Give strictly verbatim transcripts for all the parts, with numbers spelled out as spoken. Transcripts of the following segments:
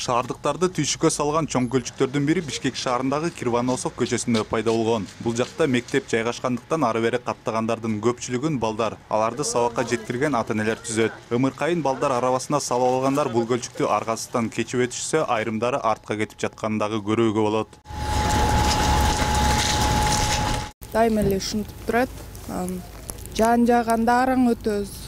Шаардыктарды түйшүккө салган чоң көлчүктөрдүн бири Бишкек шаарындагы Кирваносов көчөсүндө пайда болгон. Бул жакта мектеп жайгашкандыктан ары бери каттагандардын көпчүлүгүн балдар, аларды сабакка жеткирген ата-энелер түзөт. Ымыркайын балдар арабасына салып алгандар бул көлчүктү аргасынан кечип өтүшсө, айрымдары артка кетип жатканын дагы көрүүгө болот. Дайыма эле ушинтип турат. Жан жаганда араң өтөбүз.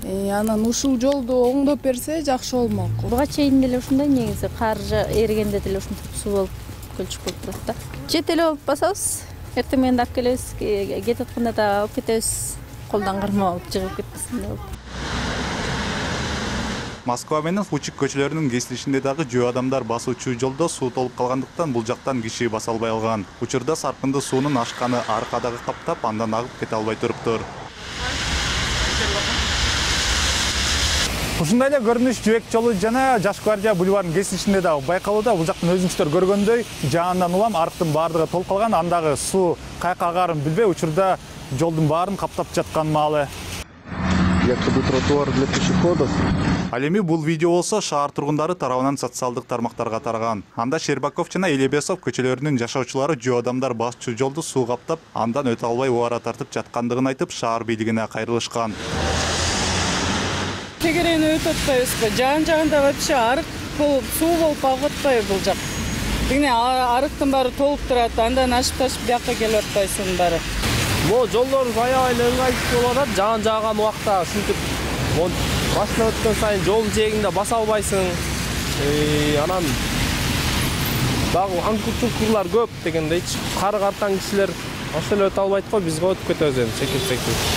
Анан ушул жолду оңдоп берсе жакшы болмок. Буга чейин деле ушундай негизи кар эригенде деле ушинтип суу болуп көлчүк болуп турат да. Жет эле болуп басабыз. Эртең менен алып келебиз, кетип атканда да алып кетебиз. Колдон кармалып жыгып кетпесин деп. Москва менен Фучик көчөлөрүнүн кесилишинде дагы жөө адамдар басуучу жолдо суу толуп калгандыктан бул жактан киши баса албай алган. Учурда саркынды суунун ашканы аркадагы каптап, андан агып кете албай туруптур. Ушундай эле көрүнүш Жэбек жолу жана Жаш гвардия бульварынын кесилишинде дагы байкалууда. Бул жактан өзүңүздөр көргөндөй жаандан улам арыктын баардыгы толуп калган. Андагы суу каяка агарын билбей, учурда жолдун баарын каптап жаткан маалы. Якобы тротуар для пешеходов. Ал эми бул видео болсо шаар тургундары тарабынан социалдык тармактарга тараган. Анда Щербаков жана Элебесов көчөлөрүнүн жашоочулары жөө адамдар басчу жолду суу каптап, андан өтө албай убара тартып жаткандыгын айтып, шаар бийлигине кайрылышкан. Тегерени өтүп атпайбызбы? Жан жагында вообще арык болуп, суу болуп агып атпайбы бул жак? Тигине арыктын баары толуп турат, андан ашып-ташып бияка келип атпайсың баары. Могу жолдор аябай эле ыңгайсыз болуп атат. Жан жааган убакта ушинтип башына өткөн сайын жолдун жээгинде баса албайсың. Анан дагы аңкур-чуңкурлар көп дегендейчи. Кары картан кишилер ошол эле өтө албайт го, бизге өтүп кетебиз эми секип-секип.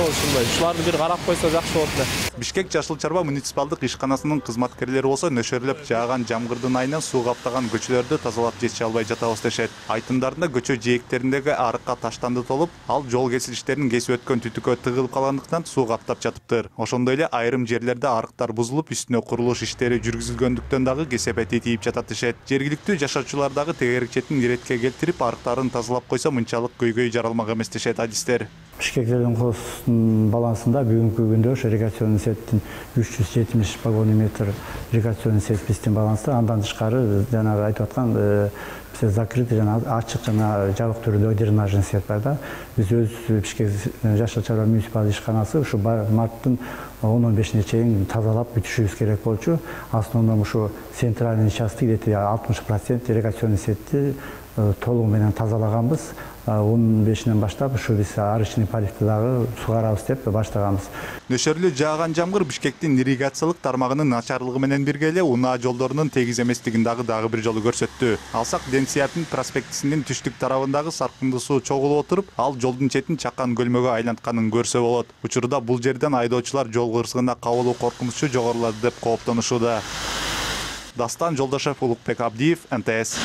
Ушундай, ушуларды бир карап койсо жакшы болот эле. Бишкек Жашыл Чарба муниципалдык ишканасынын кызматкерлери болсо нөшөрлөп жааган жамгырдын айынан суу каптаган көчөлөрдү тазалап жетише албай жатабыз дешет. Айтымдарында көчө жээктериндеги арыкка таштанды толуп, ал жол кесилиштерин кесип өткөн түтүккө тыгылып калгандыктан суу каптап жатыптыр. Ошондой эле айрым жерлерде арыктар бузулуп, үстүнө курулуш иштери жүргүзүлгөндүктөн дагы кесепети тийип жатат дешет. Жергиликтүү жашоочулар дагы тегерекчетин иретке келтирип, арыктарын тазалап койсо мынчалык көйгөй жаралмак эмес дешет адистер. Бишкек Зеленхоздун балансында бүгүнкү күндө ирригационный сеттин үч жүз жетимиш вагон метр ирригационный сет биздин баланста. Андан тышкары жанагы айтып аткан биз закрытый жана ачык жана жабык түрдө дренажный сет бар да. Биз өз Бишкек Жашыл Чарба муниципалдык ишканасы ушу марттын он бешине чейин тазалап бүтүшүбүз керек болчу. Основном ушу центральный участок где-то алтымыш процент ирригационный сетти толугу менен тазалаганбыз. он бешинен баштап ушу биз арычный поливди дагы сугарабыз деп баштаганбыз. Нөшөрлүү жааган жамгыр Бишкектин ирригациялык тармагынын начарлыгы менен бирге эле унаа жолдорунун тегиз эместигин дагы дагы бир жолу көрсөттү. Алсак Ден Сиятин проспектисинин түштүк тарабындагы саркынды суу чогулуп отуруп, ал жолдун четин чакан көлмөгө айлантканын көрсө болот. Учурда бул жерден айдоочулар жол кырсыгына кабылуу коркунучу жогорулады деп кооптонушууда. Дастан Жолдошев, Улукбек Абдиев, Н Т С.